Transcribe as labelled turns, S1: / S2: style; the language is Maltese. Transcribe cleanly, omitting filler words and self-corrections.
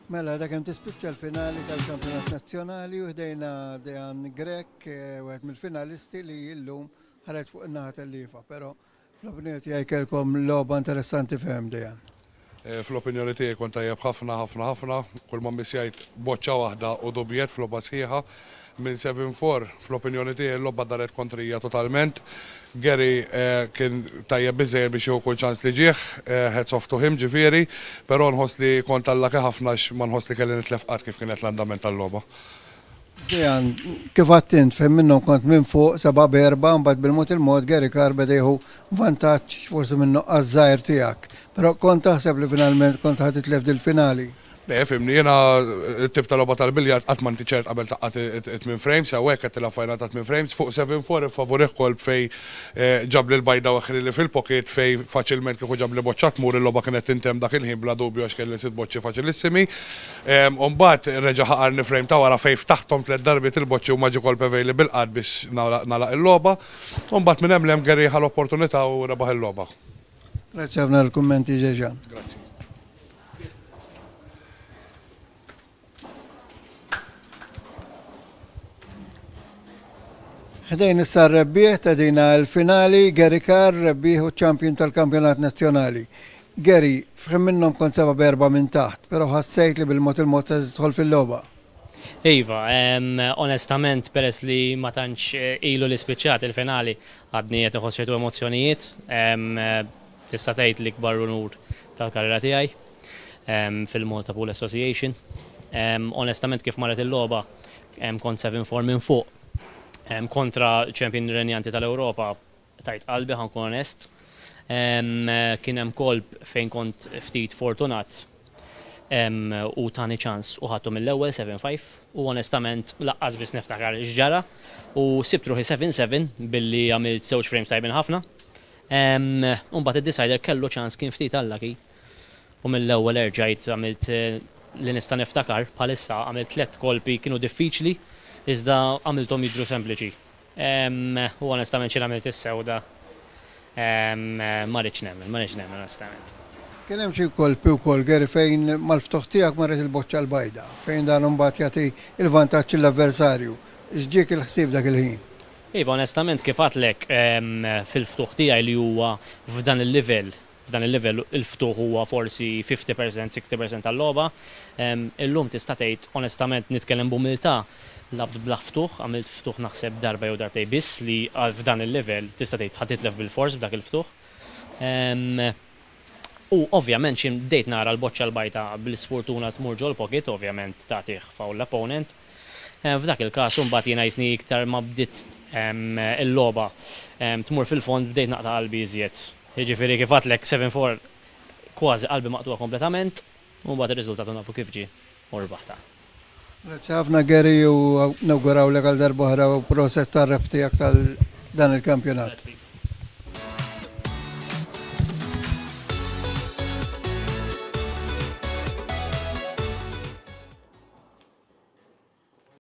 S1: Mela, dak hemm tispiċċa l-finali tal-Kampjonat Nazzjonali u ħdejna Dejan Grech, eh, wieħed mill-finalisti li llum ħareġ fuq in-naħa telliefa, però fl-opinjoni tiegħi kellkom logħba interessanti ferm Dejan.
S2: Eh, fl-opinjoni tiegħi kont tajjeb ħafna ħafna ħafna, kull ma missjajt boċċa waħda u dubjet f'logħba sħiħa. Minn 7-4, fl-opinjoni tiegħi l-logħba daret kontrija totalment. Gary eh, kien tajjeb biżejjed biex jieħu kull ċans li ġieħ, eh, hats off to him ġifieri, però nħoss li kont unlucky ħafna għax ma nħoss li kelli nitlef qatt kif kienet l-andament tal-logħba.
S1: Dejan, kif għedt int fejn minnhom kont minn fuq 7-4, mbagħad bil-mod il-mod Gary Carr beda jieħu vantaġġ forsi minn nuqqas żgħir tiegħek. Però kont taħseb li finalment kont ħa titlef dil-finali.
S2: Le, fhimni, jiena tip ta' logħba tal-biljard qatt ma inti ċert qabel tgħaqqad it-8 frames, sew hekk qed tilgħab final ta' 8 frames, fuq 7-4 iffavorih kolb fej ġabli l-bajda u li fil-pocket fej faċilment kieku ġabli boċċa tmur il-logħba kienet tintemm dak il-ħin bla dubju għax kelli sitt boċċi faċilissimi. Umbagħad reġa' ħaqarni frame ta' wara fej ftaħthom tliet darbiet il-boċċi u ma ġie kolp available qatt biex nagħlaq il-logħba. Umbagħad minn hemm 'l hemm Gary ħa l-opportunità u rebaħ il-logħba.
S1: Grazzi ħafna l-kummenti Dejan.
S2: Grazzi.
S1: Ħdejn issa r-rebbieħ ta' dina l-finali, Gary Carr, rebbieħ u champion tal-kampjonat nazzjonali. Gary, f'ħin minnhom kont 7-4 minn taħt, però ħassejt li bil-mod il-mod se tidħol fil-logħba.
S3: Iva, onestament, peress li ma tantx ilu li spiċċat il-finali, għadni qed iħoss ċertu emozzjonijiet. Tista' tgħid l-ikbar unur tal-karriera tiegħi fil-Malta Pool Association. Onestament kif marret il-logħba kont 7-4 minn fuq kontra champion renjanti tal-Ewropa tajt qalbi ħa nkun onest. Kien hemm kolb fejn kont ftit fortunat u tani ċans u ħadtu mill-ewwel 7-5 u onestament lanqas biss niftakar x'ġara u sibt ruħi 7-7 billi għamilt żewġ frames tajbin ħafna. Mbagħad id-decider kellu ċans kien ftit unlucky u mill-ewwel erġajt għamilt li nista' niftakar bħalissa għamilt tliet kolpi kienu diffiċli iżda għamilthom jidhru sempliċi. U onestament xi għamilt is-sewda ma rridx nemmen, ma rridx nemmen onestament.
S1: Kien hemm xi kolpi wkoll Gary fejn mal-ftuħ tiegħek marret il-boċċa l-bajda, fejn dan imbagħad jagħti il-vantaġġ l-avversarju. X'ġiek il-ħsieb dak il-ħin?
S3: Iva, onestament kif għedtlek fil-ftuħ tiegħi li huwa f'dan il-livell, f'dan il-livell il-ftuħ huwa forsi 50%, 60% tal-logħba. Illum tista' tgħid onestament nitkellem b'umiltà, lgħabt bla ftuħ, għamilt ftuħ naħseb darba jew darbtej biss li f'dan il-livell tista' tgħid ħa titlef bil-fors b'dak il-ftuħ. U ovvjament xi bdejt nara l-boċċa l-bajda bl-isfortuna tmur ġol pocket, ovvjament tagħtih foul l-opponent. F'dak il-każ imbagħad jiena jisni iktar ma bdiet il-logħba tmur fil-fond bdejt naqta' qalbi iżjed. Jiġifieri kif għedtlek 7-4 kważi qalbi maqtugħa kompletament, u mbagħad ir-riżultat nafu kif ġie u rbaħta.
S1: Grazzi ħafna Gary u nawgurawlek għal darb'oħra u proset tar-rebħ tiegħek tal dan il-kampjonat.
S3: Grazzi.